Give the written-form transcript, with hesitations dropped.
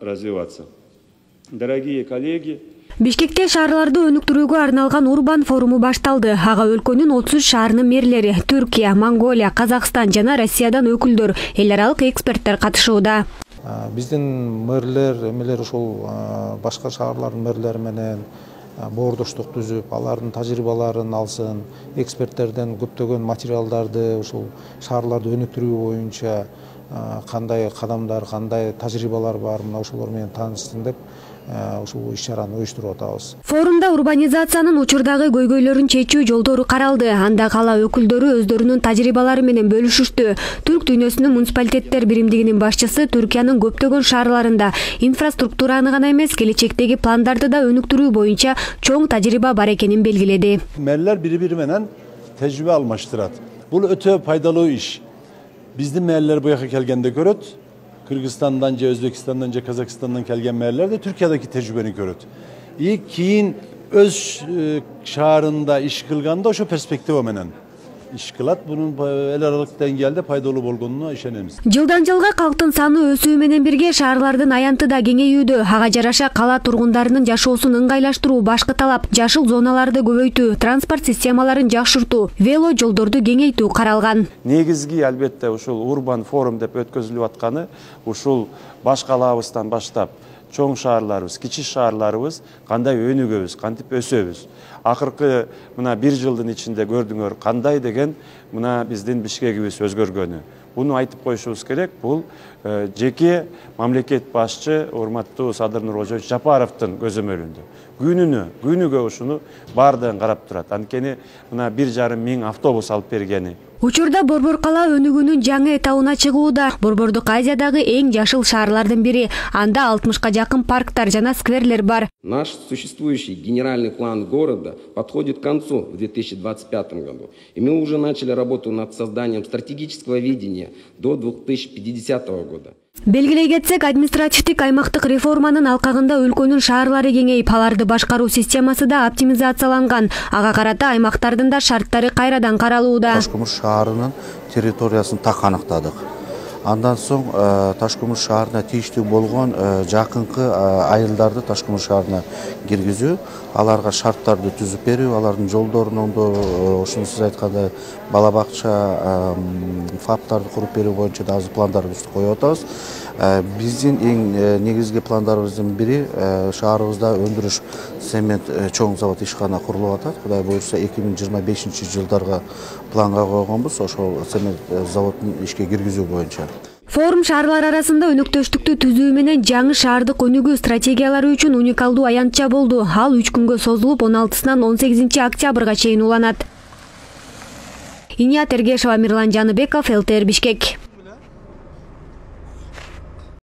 развиваться. Дорогие коллеги, Бишкекте шаарларды өнүктүрүүгө арналган Урбан форуму башталды. Ага өлкөнүн 33 шаарынын мэрлери, Түркия, Монголия, Казакстан жана Россиядан өкүлдөр, эл аралык эксперттер катышууда. Биздин мэрлер ушул башка шаарлардын мэрлери менен боордоштук түзүп, алардын тажрыйбаларын алсын, эксперттерден көптөгөн материалдарды ушул шаарларды өнүктүрүү боюнча кандай кадамдар, кандай тажрыйбалар бар, мына ошолор менен таанышсын деп ушул иш-чараны уюштуруп атабыз. Форумда урбанизациянын учурдагы көйгөйлөрүн чечүү жолдору каралды. Анда кала өкүлдөрү өздөрүнүн тажрыйбалары менен бөлүшүштү. Түрк дүйнөсүнүн муниципалитеттер биримдигинин башчысы Түркиянын көптөгөн шаарларында инфраструктураны гана эмес, келечектеги пландарды да өнүктүрүү боюнча чоң тажрыйба бар экенин белгиледи. Мэрлер бири-бири менен тажрыйба алмаштырат. Бул өтө пайдалуу иш. Биздин мэрлер буяка келгенде көрөт. Кыргызстандан же Өзбекстандан же Казакстандан келген мэрлер де Түркиядагы тажрыйбаны көрөт. Кийин өз шаарында иш кылганда ошо перспектива менен иш кылат. Бунун эл аралык деңгээлде пайдалуу болгонуна ишенебиз. Жылдан жылга калктын саны өсүү менен бирге шаарлардын аянты да кеңейүүдө. Ага жараша кала тургундарынын жашоосун ыңгайлаштыруу башкы талап. Жашыл зоналарды көбөйтүү, транспорт системаларын жакшыртуу, вело жолдорду кеңейтүү каралган. Негизги албетте ушул Урбан форум деп өткөзүлүп атканы ушул баш калаабыздан баштап чоң шаарларыбыз, кичи шаарларыбыз кандай өнүгөбүз, кантип өсөбүз. Акыркы мына 1 жылдын ичинде көрдүңөр кандай деген мына биздин Бишкегибиз өзгөргөнү. Буну айтып коюшубуз керек. Бул жеке мамлекет башчы урматтуу Садыр Нуркожоевич Жапаровдун көзөмөлүндө. Күнүгө ушуну баардыгын карап турат. Анткени мына 1,5 миң автобус алып бергени. Учурда Борбор кала өнүгүүнүн жаңы этабына чыгууда. Борбордук Азиядагы эң жашыл шаарлардын бири. Анда 60-ка жакын парктар жана скверлер бар. Наш существующий генеральный план города подходит к концу в 2025 году. И мы уже начали работу над созданием стратегического видения до 2050 года. Белгилей кетсек, административдик аймактык реформанын алкагында өлкөнүн шаарлары кеңейип, аларды башкаруу системасы да оптимизацияланган. Ага карата аймактардын да шарттары кайрадан каралууда. Ташкөмүр шаарынын территориясын так аныктадык. Андан соң Ташкөмүр шаарына тийиштүү болгон жакынкы айылдарды Ташкөмүр шаарына киргизүү, аларга шарттарды түзүп берүү, алардын жолдорун оңдоо, ошону сиз айткандай бала бакча, фаптарды куруп берүү боюнча да азыр пландарыбызды коюп атабыз. Биздин эң негизги пландарыбыздын бири шаарыбызда өндүрүш цемент чоң завод ишкана курулуп атат. Кудай буюрса 2025 жылдарга планга койгонбуз ошол цемент заводун ишке киргизүү боюнча. Форум шаарлар арасында өнөктөштүктү түзүү менен жаңы шаардык өнүгүү стратегиялары үчүн уникалдуу аянтча болду. Ал 3 күнгө созулуп 16-сынан 18 октябрга чейин уланат. Иния Тергешова, Мирлан Жаныбеков, ЛТР Бишкек.